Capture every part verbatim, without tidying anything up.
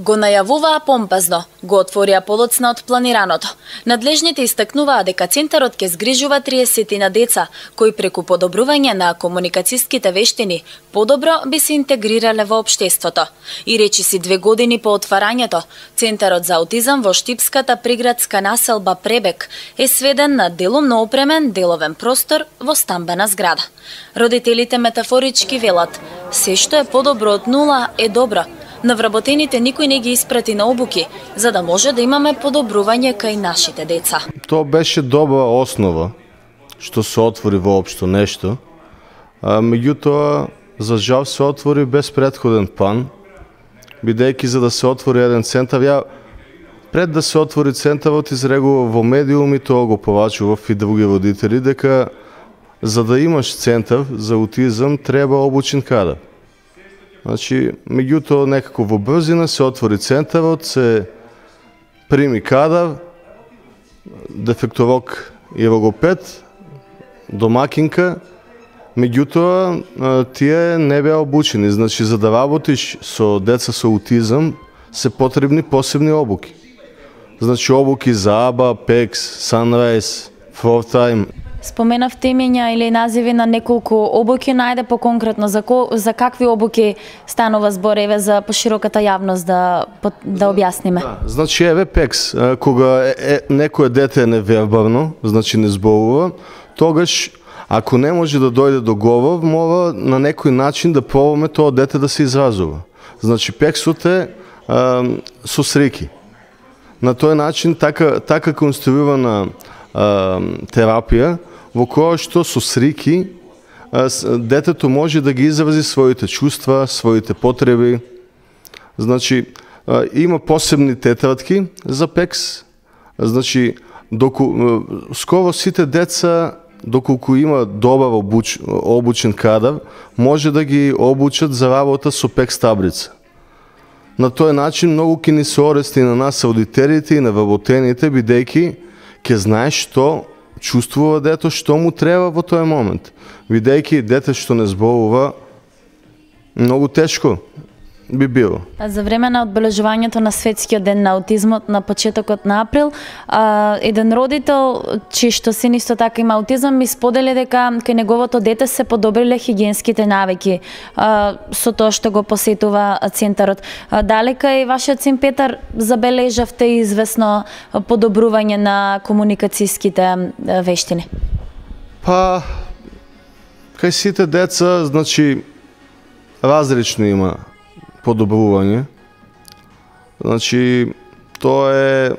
Го најавуваа помпазно, го отворија подоцна од планираното. Надлежните истакнуваа дека центарот ќе згрижува триесет на деца, кои преку подобрување на комуникацијските вештини подобро би се интегрирале во општеството. И речиси две години по отварањето, Центарот за аутизам во штипската приградска населба Пребек е сведен на делумно опремен деловен простор во стамбена зграда. Родителите метафорички велат: се што е подобро од нула е добро. На вработените никој не ги испрати на обуки, за да може да имаме подобрување кај нашите деца. Тоа беше добра основа, што се отвори воопшто нешто, а меѓутоа, за жал се отвори без претходен план, бидејќи за да се отвори еден центар, ја пред да се отвори центарот изрегува во медиуми, тоа го повачував и други родители, дека за да имаш центар за аутизам треба обучен кадар. Значи, меѓутоа некако во брзина се отвори центарот, се прими кадар, дефектолог и логопед, домакинка, меѓутоа тие не беа обучени. Значи, за да работиш со деца со аутизам, се потребни посебни обуки. Значи, обуки за АБА, ПЕКС, Sunrise, Фортайм. Споменавте имења или називи на неколку обуки, најде по-конкретно за, ко, за какви обуки станува збор, еве за пошироката јавност да да објасниме. Да, значи еве ПЕКС, кога е, е, некое дете е невербално, значи не зборува, тогаш ако не може да дојде до говор, мора на некој начин да пробаме тоа дете да се изразува. Значи ПЕКСот е а, со срики. На тој начин така така конструирана а, терапија во која што со срики детето може да ги изрази своите чувства, своите потреби. Значи, има посебни тетрадки за ПЕКС. Значи, доку, скоро сите деца, доколку има добар обуч, обучен кадар, може да ги обучат за работа со ПЕКС таблица. На тој начин многу ќе ни се орести на нас аудиторите и на вработените, бидејќи ќе знаеш што чувствува дето, што му треба во тој момент. Бидејќи дете што не зборува, многу тешко би било. За време на одбележувањето на Светскиот ден на аутизмот на почетокот на април, а, еден родител, чиј што син исто така има аутизам, ми сподели дека кај неговото дете се подобриле хигиенските навики а, со тоа што го посетува центарот. А, дали кај вашиот син Петар забележавте известно подобрување на комуникацијските вештини? Па, кај сите деца, значи, различно има подобрување. Значи, тоа е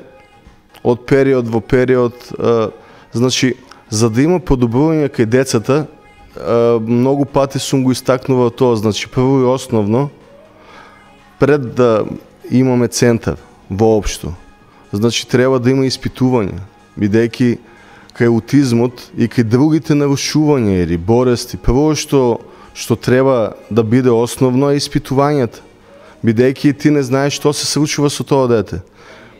од период во период. А, значи, за да има подобрување кај децата, а, многу пати сум го истакнувал тоа. Значи, прво и основно, пред да имаме центар воопшто, значи, треба да има испитување, бидејќи кај аутизмот и кај другите нарушувања или болести, прво што што треба да биде основно е испитувањата, бидејќи ти не знаеш што се случува со тоа дете.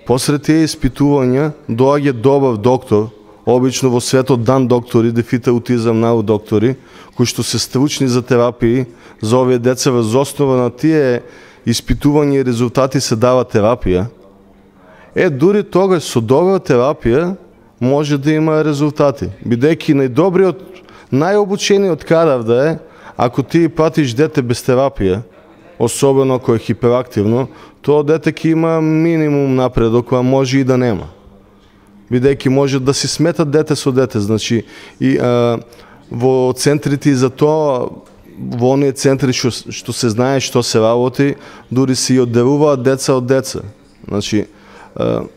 После тие испитувања доаѓа добар доктор, обично во светот дан доктори, дефит аутизам нау доктори, кои што се стручни за терапии за овие деца, врз основа на тие испитувања и резултати се дава терапија. Е, дури тогаш со добра терапија може да има резултати, бидејќи најдобриот, најобучениот кадар да е, ако ти пратиш дете без терапија, особено ако е хиперактивно, тоа дете ќе има минимум напредок, а може и да нема. Бидејќи може да си сметат дете со дете, значи и а, во центрите и за тоа, во оние центри што, што се знае што се работи, дури се и одделуваат деца од деца. Значи, а,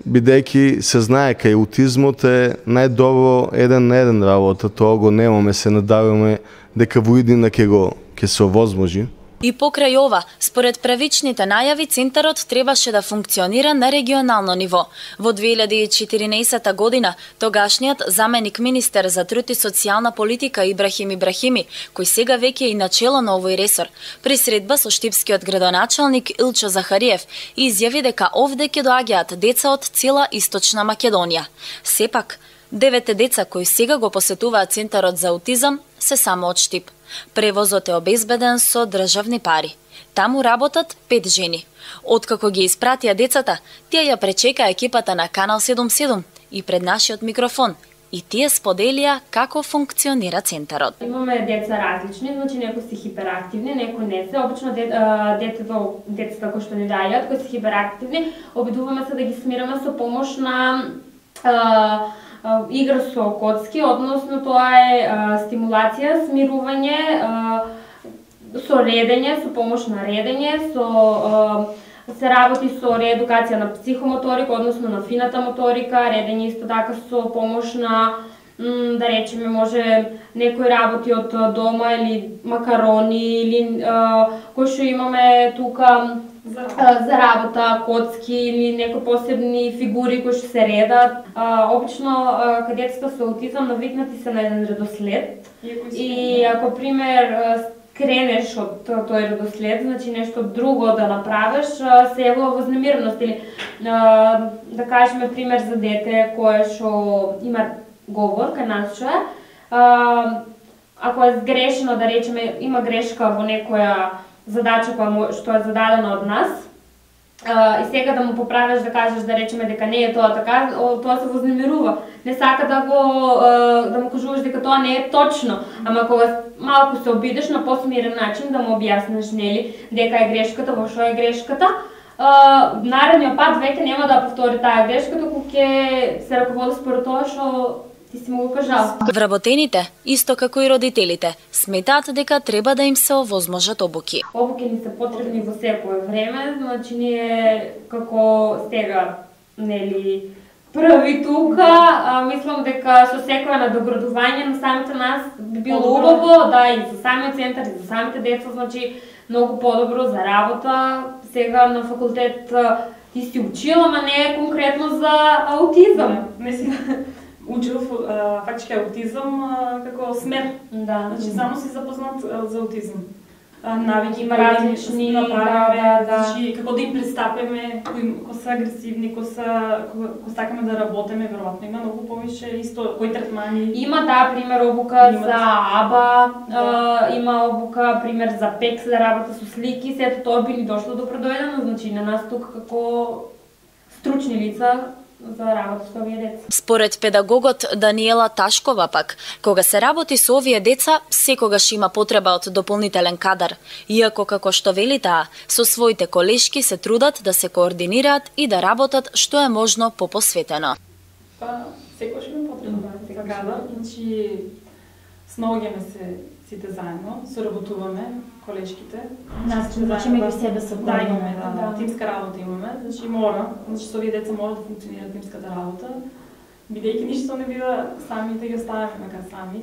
бидејќи се знае кај аутизмот е најдобро еден на еден работа, тоа го немаме, се надаваме дека во иднина ќе го ќе се овозможи. И покрај ова, според правичните најави, центарот требаше да функционира на регионално ниво. Во две илјади и четиринаесета година, тогашниот заменик министер за труд и социјална политика Ибрахим Ибрахими, кој сега веќе е и начело на овој ресор, при средба со штипскиот градоначалник Илчо Захариев, изјави дека овде ќе доаѓаат деца од цела Источна Македонија. Сепак, девете деца кои сега го посетуваат центарот за аутизам се само од Штип. Превозот е обезбеден со државни пари. Таму работат пет жени. Откако ги испратија децата, тие ја пречека екипата на Канал седумдесет и седум и пред нашиот микрофон и тие споделија како функционира центарот. Имаме деца различни, значи некои се хиперактивни, некои не се. Обично децата, децата кои што ни дајат, кои се хиперактивни, обидуваме се да ги смираме со помош на а, а, игра со коцки, односно тоа е а, стимулација, смирување, а, со редење, со помош на редење, со а, се работи со реедукација на психомоторика, односно на фината моторика, редење исто така со помош на, да речеме, може некои работи од дома или макарони или а, кои што имаме тука за, а, за работа, коцки или некои посебни фигури кои што се редат. А, обично а, каде децата со аутизам навикнати се на еден редослед и ако пример кренеш од тој редослед, значи нешто друго да направиш, се јавува вознемиреност или да кажеме пример за дете кое што има говор кај нас што е, ако е сгрешено, да речеме, има грешка во некоја задача која што е зададена од нас, и сега да му поправиш, да кажеш, да речеме дека не е тоа така, тоа се вознемирува. Не сака да го да му кажуваш дека тоа не е точно, ама кога малку се обидеш на посмирен начин да му објасниш, нели, дека е грешката, во што е грешката, наредниот пат веќе нема да повтори таа грешка, туку ќе се раководи според тоа што ти си му го кажал. Вработените, исто како и родителите, сметаат дека треба да им се овозможат обуки. Обуки ни се потребни во секое време, значи ние како сега, нели, први тука, а, мислам дека со секое надоградување на самите нас би било убаво, да, и за самиот центар, и за самите деца, значи многу подобро за работа. Сега на факултет ти си учила, ама не е конкретно за аутизам. Не си учил фактички аутизам како смер. Да. Значи само си запознат за аутизам. Навики има различни, да, да, да. Значи како да им пристапиме, кои, кои се агресивни, кои се кои сакаме да работиме, веројатно има многу повише исто кои третмани. Има да пример обука има за АБА, да. а, има обука пример за ПЕК за работа со слики, сето тоа би ни дошло до предојдено, значи на нас тука како стручни лица за работа со овие деца. Според педагогот Даниела Ташкова пак, кога се работи со овие деца, секогаш има потреба од дополнителен кадар, иако како што вели таа, со своите колешки се трудат да се координираат и да работат што е можно попосветено. Па, секогаш има потреба за кадар, значи снаоѓаме се сите заедно, соработуваме, колешките. Нас, значи меѓу себе се да, имаме, да, да, тимска работа имаме, значи мора, значи со овие деца мора да функционира тимската работа, бидејќи ништо не бива сами да ги оставаме така сами,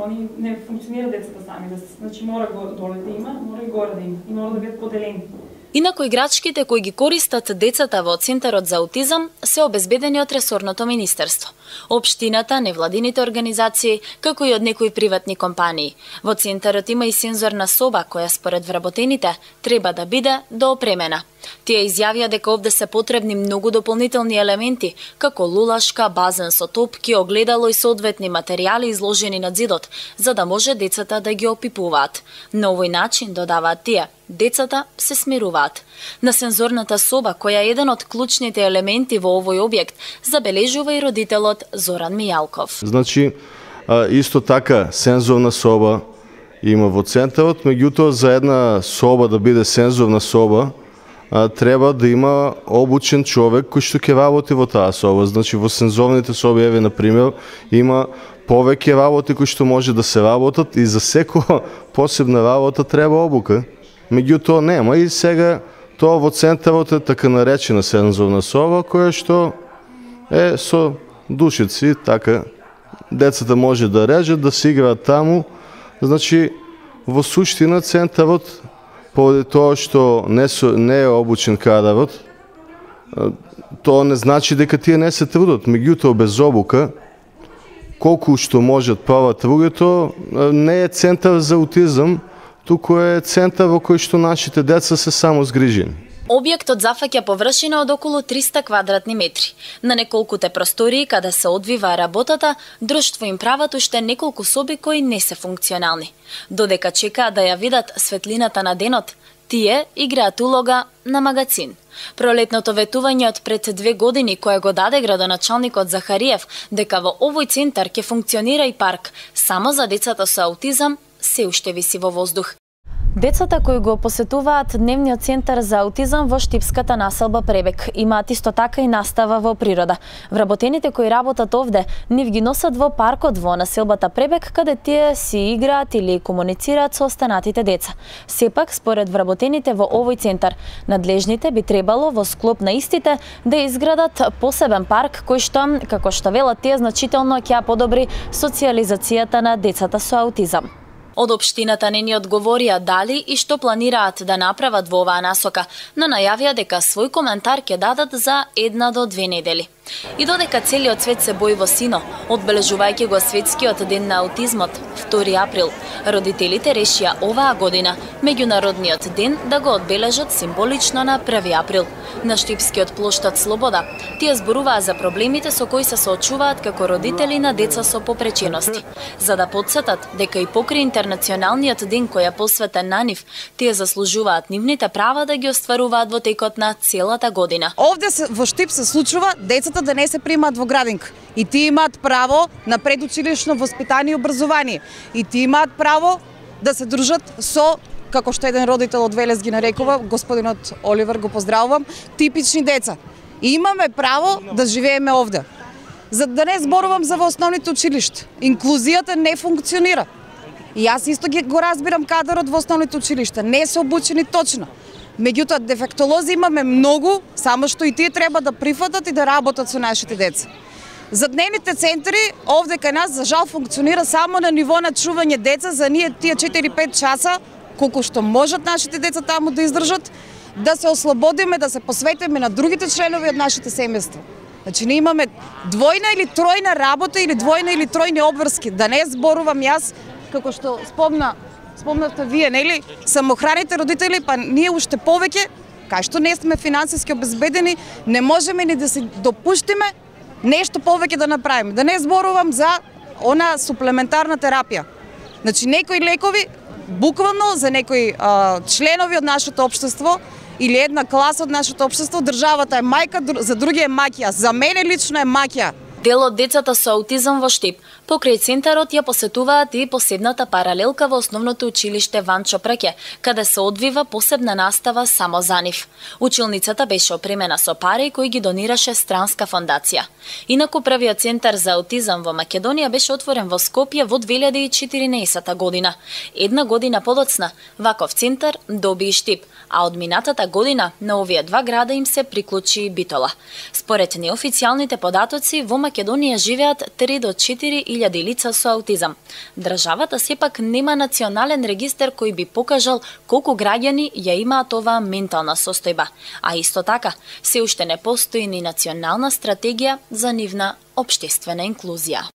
они не функционира децата сами, да, значи мора го доле да има, мора и горе да има, и мора да бидат поделени. Инаку играчките кои ги користат децата во Центарот за аутизам се обезбедени од ресорното министерство, општината, невладините организации, како и од некои приватни компании. Во Центарот има и сензорна соба која според вработените треба да биде доопремена. Тие изјавија дека овде се потребни многу дополнителни елементи, како лулашка, базен со топки, огледало и соодветни материјали изложени на зидот, за да може децата да ги опипуваат. На овој начин, додаваат тие, децата се смируваат. На сензорната соба, која е еден од клучните елементи во овој објект, забележува и родителот Зоран Мијалков. Значи, исто така, сензорна соба има во центарот, меѓутоа за една соба да биде сензорна соба, треба да има обучен човек кој што ќе работи во таа соба. Значи во сензорните соби, еве на пример, има повеќе работи кои што може да се работат и за секоја посебна работа треба обука. Меѓутоа нема и сега тоа во центарот е така наречена сензорна соба која што е со душици, така децата може да режат, да се играат таму. Значи во суштина центарот поради тоа што не, со, не е обучен кадарот, тоа не значи дека тие не се трудат. Меѓутоа без обука, колку што можат прават другото, не е центар за аутизам, туку е центар во кој што нашите деца се само згрижени. Објектот зафаќа површина од околу триста квадратни метри. На неколкуте простории каде се одвива работата, друштво им прават уште неколку соби кои не се функционални. Додека чекаат да ја видат светлината на денот, Тие играат улога на магацин. Пролетното ветување од пред две години кое го даде градоначалникот Захариев дека во овој центар ќе функционира и парк само за децата со аутизам се уште виси во воздух. Децата кои го посетуваат дневниот центар за аутизам во штипската населба Пребек имаат исто така и настава во природа. Вработените кои работат овде нив ги носат во паркот во населбата Пребек, каде тие си играат или комуницираат со останатите деца. Сепак, според вработените во овој центар, надлежните би требало во склоп на истите да изградат посебен парк кој што, како што велат тие, значително ќе подобри социјализацијата на децата со аутизам. Од општината не ни одговорија дали и што планираат да направат во оваа насока, но најавија дека свој коментар ќе дадат за една до две недели. И додека целиот свет се бои во сино, одбележувајќи го светскиот ден на аутизмот, втори април, родителите решија оваа година меѓународниот ден да го одбележат символично на први април. На штипскиот плоштад Слобода, тие зборуваа за проблемите со кои се соочуваат како родители на деца со попречености, за да потсетат дека и покрај интернационалниот ден кој е посветен на нив, тие заслужуваат нивните права да ги остваруваат во текот на целата година. Овде се, во Штип се случува децата да не се примаат во градинка. И тие имаат право на предучилишно воспитание и образование. И тие имаат право да се дружат со, како што еден родител од Велес ги нарекува, господинот Оливер, го поздравувам, типични деца. И имаме право да живееме овде. За да не зборувам за во основните училишта. Инклузијата не функционира. И јас исто ги го разбирам кадарот во основните училишта. Не се обучени точно. Меѓутоа, дефектолози имаме многу, само што и тие треба да прифатат и да работат со нашите деца. За дневните центри, овде кај нас, за жал, функционира само на ниво на чување деца за ние тие четири-пет часа, колку што можат нашите деца таму да издржат, да се ослободиме, да се посветиме на другите членови од нашите семејства. Значи, ние имаме двојна или тројна работа или двојна или тројни обврски. Да не зборувам јас, како што спомна Спомнавте вие, нели, самохраните родители, па ние уште повеќе, кај што не сме финансиски обезбедени, не можеме ни да се допуштиме нешто повеќе да направиме. Да не зборувам за она суплементарна терапија. Значи, некои лекови, буквално за некои а, членови од нашето општество или една класа од нашето општество, државата е мајка, за други е маќија. За мене лично е маќија. Дел од децата со аутизам во Штип покрај центарот ја посетуваат и посебната паралелка во основното училиште Ванчо Преке, каде се одвива посебна настава само за нив. Училницата беше опремена со пари кои ги донираше странска фондација. Инаку првиот центар за аутизам во Македонија беше отворен во Скопје во две илјади и четиринаесетта година. Една година подоцна, ваков центар доби и Штип, а од минатата година на овие два града им се приклучи и Битола. Според неофицијалните податоци, во Македонија живеат три до четири илјади лица со аутизам. Државата сепак нема национален регистар кој би покажал колку граѓани ја имаат оваа ментална состојба, а исто така се уште не постои ни национална стратегија за нивна општествена инклузија.